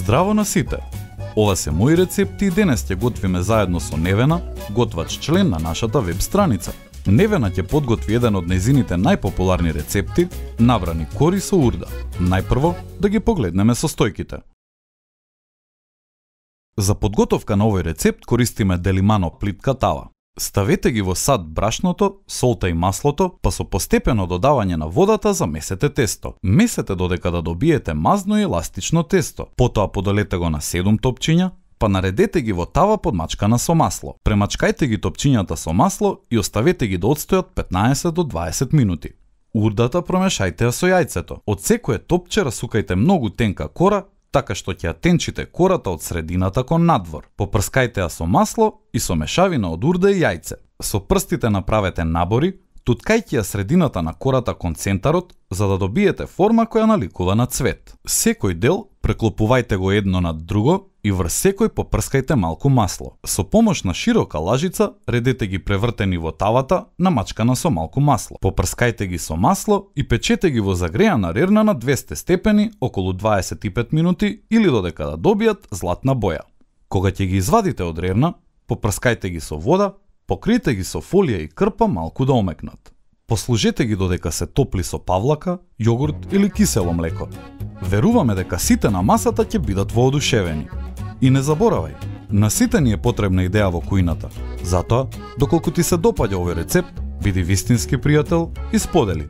Здраво на сите! Ова се мои рецепти и денес ќе готвиме заедно со Невена, готвач член на нашата веб страница. Невена ќе подготви еден од нејзините најпопуларни рецепти, набрани кори со урда. Најпрво да ги погледнеме состојките. За подготовка на овој рецепт користиме делимано плитка тава. Ставете ги во сад брашното, солта и маслото, па со постепено додавање на водата замесете тесто. Месете додека да добиете мазно и еластично тесто. Потоа подолете го на 7 топчиња, па наредете ги во тава подмачкана со масло. Премачкајте ги топчињата со масло и оставете ги да одстојат 15 до 20 минути. Урдата промешајте ја со јајцето. Од секое топче расукајте многу тенка кора, така што ќе ја тенчите кората од средината кон надвор. Попрскајте ја со масло и со мешавина од урда и јајце. Со прстите направете набори, туткајќи ја средината на кората кон центарот, за да добиете форма која наликува на цвет. Секој дел преклопувајте го едно над друго и врз секој попрскајте малку масло. Со помош на широка лажица редете ги превртени во тавата, намачкана со малку масло. Попрскајте ги со масло и печете ги во загреана рерна на 200 степени околу 25 минути или додека да добијат златна боја. Кога ќе ги извадите од рерна, попрскајте ги со вода, покријте ги со фолија и крпа малку да омекнат. Послужете ги додека се топли со павлака, јогурт или кисело млеко. Веруваме дека сите на масата ќе бидат воодушевени. И не заборавај, на сите ни е потребна идеја во кујната. Затоа, доколку ти се допаѓа овој рецепт, биди вистински пријател и сподели.